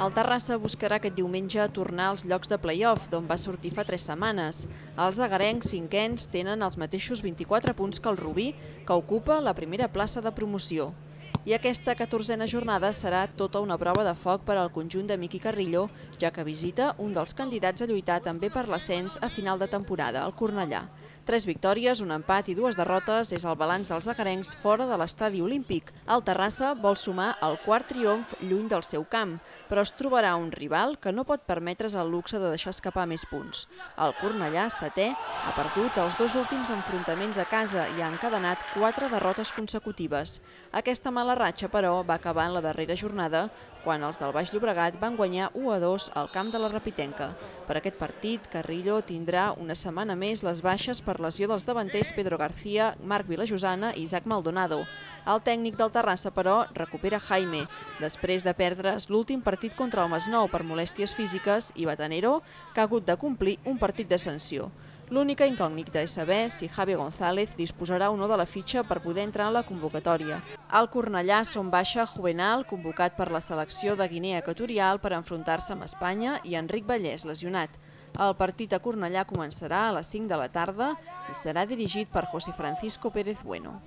El Terrassa buscarà aquest diumenge tornar als llocs de play-off, d'on va sortir fa 3 setmanes. Els agarencs cinquens tenen els mateixos 24 punts que el Rubí, que ocupa la primera plaça de promoció. I aquesta 14a jornada serà tota una prova de foc per al conjunt de Miqui Carrillo, ja que visita un dels candidats a lluitar també per l'ascens a final de temporada, el Cornellà. 3 victòries, un empat i 2 derrotes és el balanç dels agarencs fora de l'estadi olímpic. El Terrassa vol sumar el quart triomf lluny del seu camp, però es trobarà un rival que no pot permetre's el luxe de deixar escapar més punts. El Cornellà, setè, ha perdut els 2 últims enfrontaments a casa i ha encadenat 4 derrotes consecutives. Aquesta mala ratxa, però, va acabar en la darrera jornada, quan els del Baix Llobregat van guanyar 1-2 al camp de la Rapitenca. Per aquest partit, Carrillo tindrà una setmana més les baixes per lesió dels davanters Pedro García, Marc Vilajosana i Isaac Maldonado. El tècnic del Terrassa, però, recupera Jaime, després de perdre's l'últim partit contra el Masnou per molèsties físiques i Batanero, que ha hagut de complir un partit de sanció. L'única incògnita és saber si Javi González disposarà o no de la fitxa per poder entrar en la convocatòria. Al Cornellà són baixa Juvenal, convocat per la selecció de Guinea Equatorial per enfrontar-se amb Espanya, i Enric Vallès, lesionat. El partit a Cornellà començarà a les 5 de la tarda i serà dirigit per José Francisco Pérez Bueno.